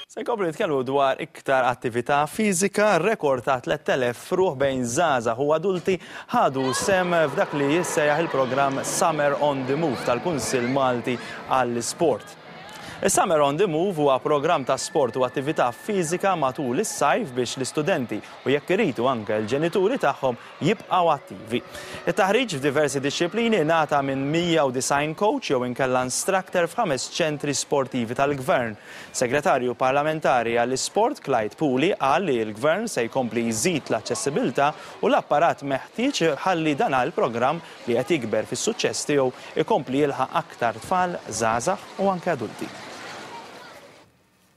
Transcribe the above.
Se nkomplu nitkellmu dwar iktar attività fiżika, rekord ta' 3,000 ruħ bejn żgħażagħ u adulti ħadu sehem f'dak li jissejjaħ il-programm Summer on the Move tal-Kunsill Malti għall-Isport. Is-Summer on the Move huwa programm ta' sport u attività fiżika matul is-sajf biex l-istudenti u jekk iridu anke l-ġenituri tagħhom jibqgħu attivi. It-taħriġ f'diversi dixxiplini ngħata minn 190 coach jew inkella instructor f'ħames ċentri sportivi tal-Gvern. Segretarju Parlamentari għall-Isport Clyde Puli qal li l-Gvern se jkompli jżid l-aċċessibilità u l-apparat meħtieġ ħalli dan il-programm li qed jikber fis-suċċess tiegħu jkompli jilħaq aktar tfal, żgħażagħ u anke adulti.